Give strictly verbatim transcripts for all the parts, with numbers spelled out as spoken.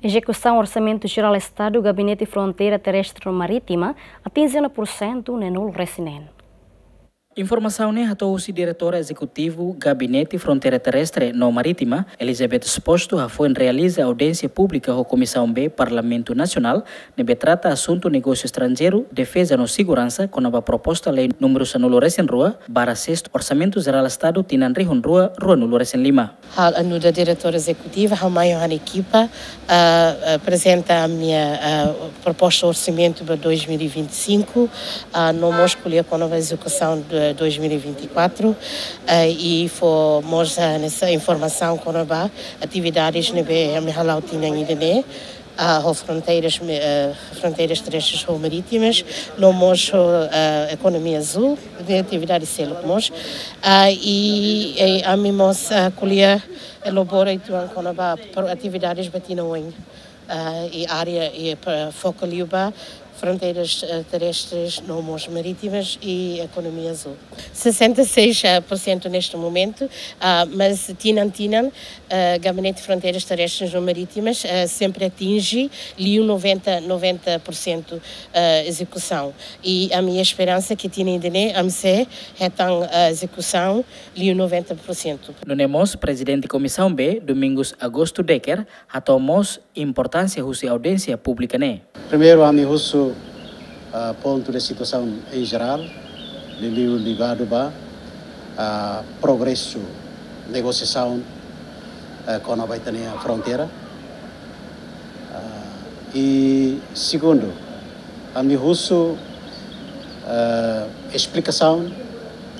Ezekusaun Orsamentu Jerál Estadu Gabinete Fronteira Terrestre no Marítima atinje ona pursentu neenulu resin neen. Informasaun ne'e hato'o husi Diretór Ezekutivu Gabinete Fronteira Terrestre no Marítima, Elizabeth Exposto, hafoin realiza audiénsia públika ho Komisaun B Parlamentu Nasionál, ne'ebé trata asuntu negósiu estranjeiru, defeza no seguransa, kona-ba proposta lei númeru sanulu resin rua, barra sestu Orsamentu Jerál Estadu tinan rihun rua, ruanulu resin lima. Ha'u nu'udar Diretór Ezekutivu, ha'u mai ho ha'u-nia ekipa, ah, ah, aprezenta ha'u-nia, ah, proposta orsamentu ba dois mil e vinte e cinco, ah, no mós ko'alia kona-ba ezekusaun de dois mil e vinte e quatro, ah, i fó mós, ah, hanesan informasaun kona-ba atividades ne'ebé ami hala'o tinan ida-ne'e, ah, ho fronteiras, ah, fronteiras terrestres ho marítimas, no mós ho, ah, ekonomia azúl, de atividade seluk mós. Ah, i, i ami mós, ah, ko'alia elabora uitoan kona-ba pro-, atividades ba tinan oin, ah, i área, i pa-, foka liu ba fronteiras, ah, terrestres, no mós marítimas i ekonomia azúl. Sessenta e seis por cento neste momento, ah, mas tinan-tinan, ah, Gabinete Fronteiras Terrestres no Marítimas, ah, sempre atinje liu noventa, noventa por cento, ah, ezekusaun. I ami esperansa ke tinan ida-ne'e, ami sei hetan, ah, ezekusaun liu noventa por cento. Nune'e mós Prezidente Komisaun B, Domingos Augusto Decker, hato'o mós importánsia husi audiénsia públika ne'e. Primeiru, ami husu, ah, pontu de situasaun em geral, liuliu ligadu ba, ah, progresu negosiasaun, ah, kona-ba ita-nia fronteira. Ah, i segundu, ami husu, ah, esplikasaun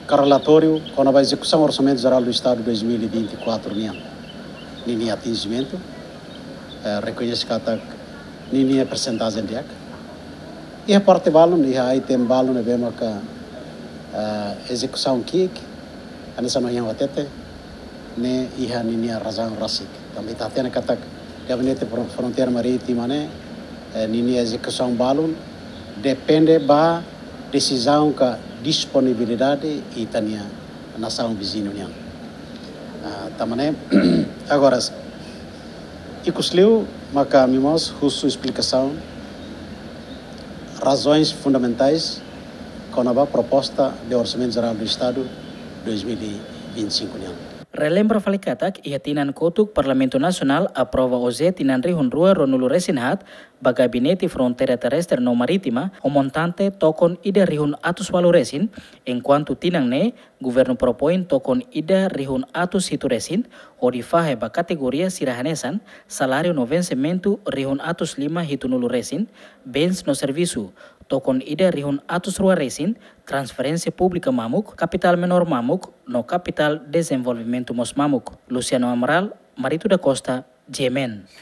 ka relatóriu kona-ba ezekusaun Orsamentu Jerál do Estadu dois mil e vinte e quatro nian, ninia atinjimentu, eh, rekoñese katak ninia persentajen di'ak. Iha parte balun, iha item balun ne'ebé maka, eh, ezekusaun ki'ik, hanesan ohin ha'u hatete, ne'e iha ninia razaun rasik. Tanba ita hatene katak Gabinete Fron-, Fronteira Marítima ne'e, eh, ninia ezekusaun balun depende ba desizaun ka disponibilidade ita-nia nasaun viziñu nian. Ah, tanba ne'e, agora, ikusliu maka ami mós husu esplikasaun, razoens fundamentais kona-ba proposta de Orsamentu Jerál do Estadu dois mil e vinte e cinco nian. Relembra fali katak, iha tinan kotuk Parlamentu Nasionál aprova oze tinan rihun rua ruanulu resin haat, ba Gabinete Fronteira Terrestre no Marítima, ho montante tokon ida rihun atus ualu resin, enkuantu tinan ne'e, Governu propoin tokon ida rihun atus hitu resin, hodi fahe ba kategoria sira hanesan, saláriu no vensimentu rihun atus lima hitunulu resin, bens no servisu, tokon ida rihun atus rua resin, transferénsia públika mamuk, kapitál menór mamuk, no kapitál dezenvolvimentu mós mamuk. Luciano Amaral, Marito da Costa, G M N.